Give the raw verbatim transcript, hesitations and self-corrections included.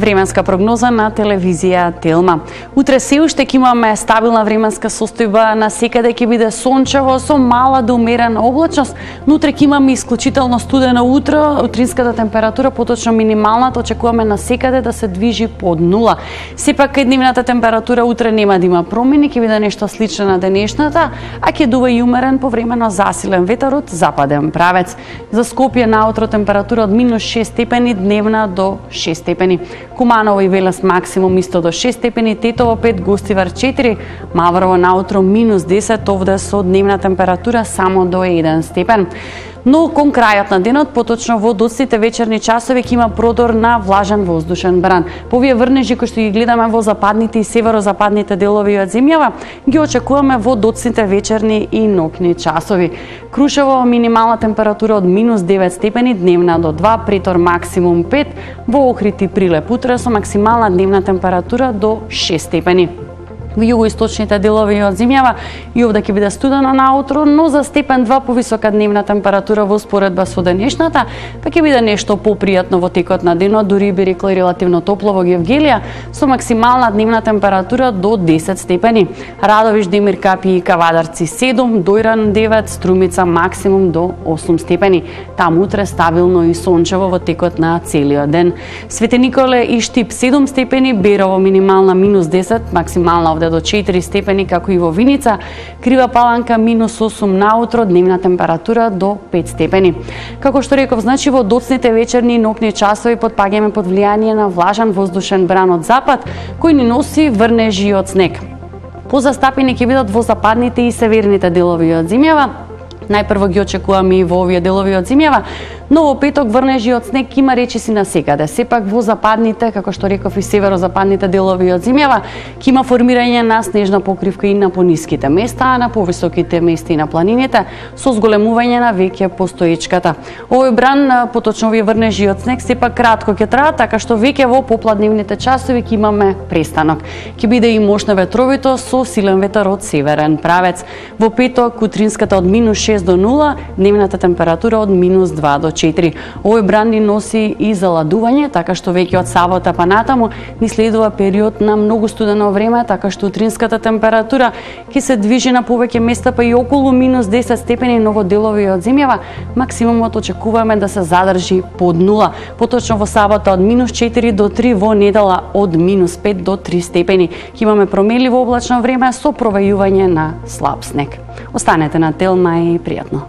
Временска прогноза на телевизија Телма. Утре се уште ќе имаме стабилна временска состојба, на секаде ќе биде сончево со мала до умерена облачност, но утре ќе имаме исклучително студено утро, утринската температура, поточно минималната, очекуваме на секаде да се движи под нула. Сепак дневната температура утре нема да има промени, ќе биде нешто слично на денешната, а ќе дува и умерен повремено засилен ветер од западен правец. За Скопје наутро температура од минус шест степени, дневна до шест степени. Куманово и Велес максимум исто до шест степени, Тетово пет, Гостивар четири, Маврово наутро минус десет, овде со дневна температура само до еден степен. Но кон крајот на денот, поточно во доцните вечерни часови, ќе има продор на влажен воздушен бран. По овие врнежи кои што ги гледаме во западните и северозападните делови од земјава, ги очекуваме во доцните вечерни и ноќни часови. Крушево минимална температура од минус девет степени, дневна до два, Претор максимум пет, во Охрид и Прилеп утре со максимална дневна температура до шест степени. Во југоисточните делови од земјава и овде ќе биде студено наутро, но за степен два повисока дневна температура во споредба со денешната, па ќе биде нешто попријатно во текот на денот, дури би рекла и релативно топло во Гевгелија, со максимална дневна температура до десет степени. Радовиш, Демир Капи и Кавадарци седум, Дојран девет, Струмица максимум до осум степени. Таму утре стабилно и сончево во текот на целиот ден. Свети Николе и Штип седум степени, Берово минимална минус десет, максимална овде до четири степени, како и во Виница. Крива Паланка минус осум наутро, дневна температура до пет степени. Како што реков, значи во доцните вечерни и ноќни часови потпаѓаме под влијание на влажен воздушен бран од запад, кој ни носи врнежи од снег. Позастапени ќе бидат во западните и северните делови од земјава. Најпрво ги очекуваме и во овие делови од земјава, но во петок врнежи од снег има речиси на секаде. Сепак во западните, како што реков, и северозападните делови од земјава, ќе има формирање на снежна покривка и на пониските места, а на повисоките места и на планините со зголемување на веќе постоечката. Овој бран, поточно овие врнежи од снег, сепак кратко ќе траат, така што веќе во попладневните часови ќе имаме престанок. Ќе биде и мощно ветровито со силен ветер од северен правец. Во петок утринската од минус шест до нула, дневната температура од минус два до четири. Овој бран ни носи и заладување, така што веќе од сабота па натаму ни следува период на многу студено време, така што утринската температура ќе се движи на повеќе места па и околу минус десет степени, но во делови од земјава максимумот очекуваме да се задржи под нула. Поточно во сабота од минус четири до три, во недела од минус пет до три степени. Ќе имаме променливо облачно време со провејување на слаб снег. Останете на Телма и пријатно.